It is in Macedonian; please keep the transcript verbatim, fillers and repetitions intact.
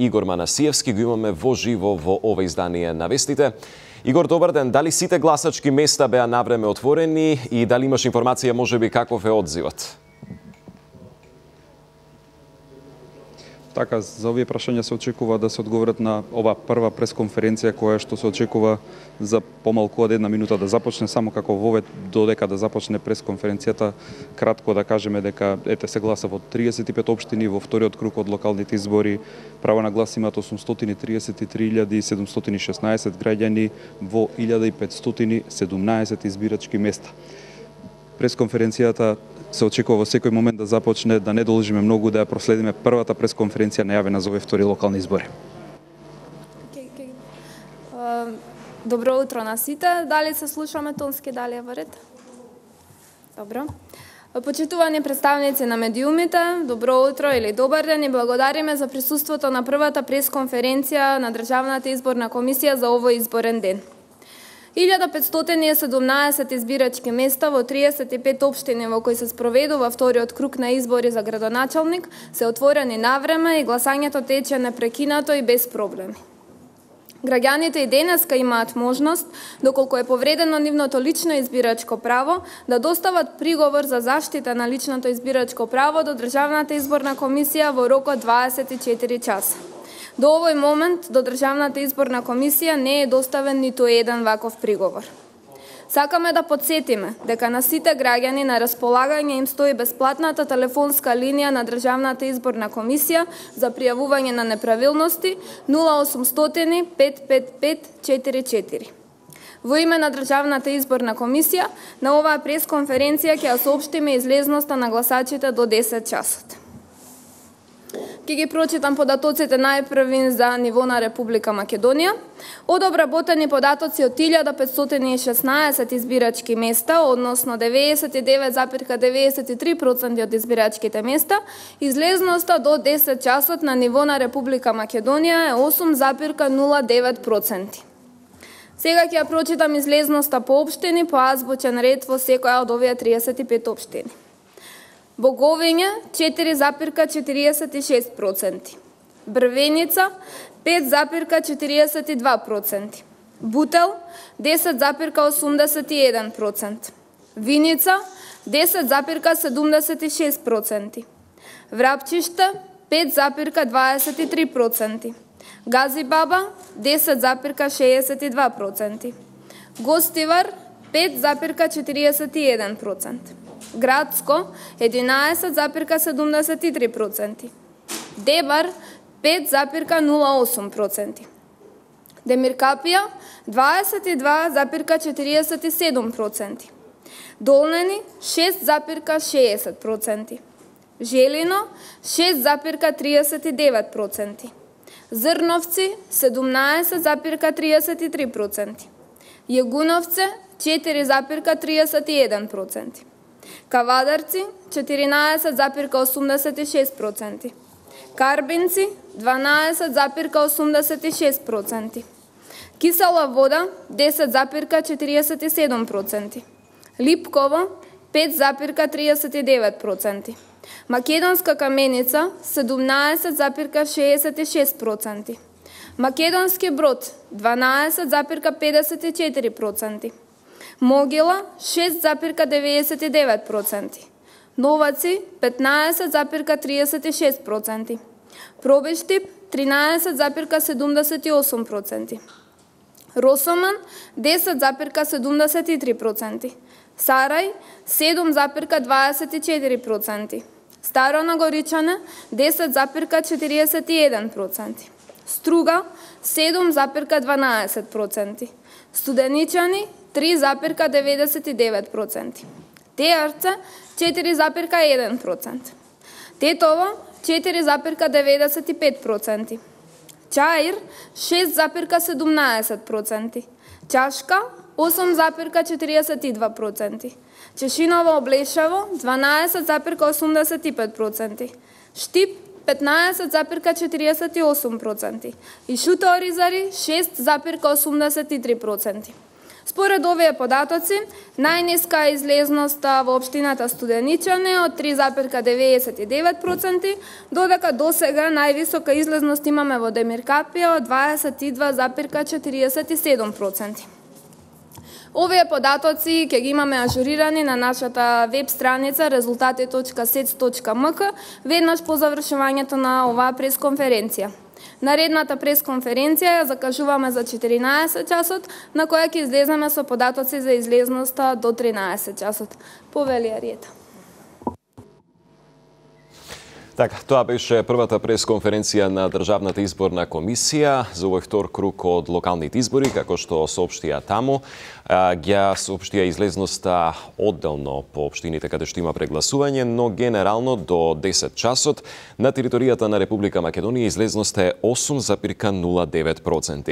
Игор Манасиевски го имаме во живо во ова издание на вестите. Игор, добар ден. Дали сите гласачки места беа навреме отворени и дали имаш информација можеби каков е одзивот? Така, за овие прашања се очекува да се одговорат на ова прва пресконференција која што се очекува за помалку од една минута да започне, само како вове додека да започне пресконференцијата, кратко да кажеме дека ете се гласа во триесет и пет општини, во вториот круг од локалните избори право на глас имаат осумстотини триесет и три илјади седумстотини и шеснаесет граѓани во илјада и петстотини и седумнаесет избирачки места. Пресконференцијата се очекува во секој момент да започне, да не должиме многу да ја проследиме првата пресконференција најавена за овие втори локални избори. Okay, okay. Uh, добро утро на сите. Дали се слушаме тонски, дали е во ред? Добро. Почитувани представници на медиумите, добро утро или добар ден и благодариме за присуството на првата пресконференција на Државната изборна комисија за овој изборен ден. илјада петстотини и седумнаесет избирачки места во триесет и пет општини во кои се спроведува вториот круг на избори за градоначалник се отворени навреме и гласањето тече непрекинато и без проблеми. Граѓаните и денеска имаат можност, доколку е повредено нивното лично избирачко право, да достават приговор за заштита на личното избирачко право до Државната изборна комисија во рок од дваесет и четири часа. До овој момент, до Државната изборна комисија не е доставен ниту еден ваков приговор. Сакаме да подсетиме дека на сите граѓани на располагање им стои бесплатната телефонска линија на Државната изборна комисија за пријавување на неправилности нула осумстотини пет пет пет четири четири. Во име на Државната изборна комисија, на оваа пресконференција ќе ја соопштиме излезноста на гласачите до десет часот. Ке ги прочитам податоците најпрви за ниво на Република Македонија. Од обработени податоци од илјада петстотини и шеснаесет избирачки места, односно деветдесет и девет запирка деветдесет и три проценти од избирачките места, излезноста до десет часот на ниво на Република Македонија е осум запирка нула девет проценти. Сега ќе ја прочитам излезноста по општини по азбучен ред во секоја од овие триесет и пет општини. Боговиња четири запирка четириесет и шест проценти, Брвеница пет запирка четириесет и два проценти, Бутел десет запирка осумдесет и еден проценти, Виница десет запирка седумдесет и шест проценти, Врапчиште пет запирка дваесет и три проценти, Газибаба десет запирка шеесет и два проценти, Гостивар пет запирка четириесет и еден проценти, Градско единаесет запирка седумдесет и три проценти, Дебар пет запирка нула осум проценти, Демиркапија дваесет и два запирка четириесет и седум проценти, Долнени шест запирка шеесет проценти, Желино шест запирка триесет и девет проценти, Зрновци седумнаесет запирка триесет и три проценти, Јегуновце четири запирка триесет и еден проценти, Кавадарци четиринаесет запирка осумдесет и шест проценти, Карбинци дванаесет запирка осумдесет и шест проценти, Кисела вода десет запирка четириесет и седум проценти, Липково пет запирка триесет и девет проценти, Македонска каменица седумнаесет запирка шеесет и шест проценти, Македонски Брод дванаесет запирка педесет и четири проценти, Могила шест запирка деветдесет и девет проценти, Новаци петнаесет запирка триесет и шест проценти, Пробештип тринаесет запирка седумдесет и осум проценти, Росоман десет запирка седумдесет и три проценти, Сарај седум запирка дваесет и четири проценти, Старо Нагоричане десет запирка четириесет и еден проценти, Струга седум запирка дванаесет проценти, Студеничани три запирка деветдесет и девет проценти, Теарце четири запирка еден процент, Тетово четири запирка деветдесет и пет проценти, Чаир шест запирка седумнаесет проценти, Чашка осум запирка четириесет и два проценти, Чешиново Облешево дванаесет запирка осумдесет и пет проценти, Штип петнаесет запирка четириесет и осум проценти и Шута Оризари шест запирка осумдесет и три проценти. Според овие податоци, најниска е излезноста во општината Студеничане од три запирка деветдесет и девет проценти, додека досега највисока излезност имаме во Демиркапија од дваесет и два запирка четириесет и седум проценти. Овие податоци ќе ги имаме ажурирани на нашата веб страница резултати точка сец точка ем ка веднаш по завршувањето на оваа пресконференција. Наредната пресконференција ја закажуваме за четиринаесет часот, на која ќе излеземе со податоци за излезноста до тринаесет часот. Повелија ред. Така, тоа беше првата пресконференција на Државната изборна комисија за овој втор круг од локалните избори, како што соопштија таму. Ја соопштија излезноста одделно по општините каде што има прегласување, но генерално до десет часот на територијата на Република Македонија излезноста е осум запирка нула девет проценти.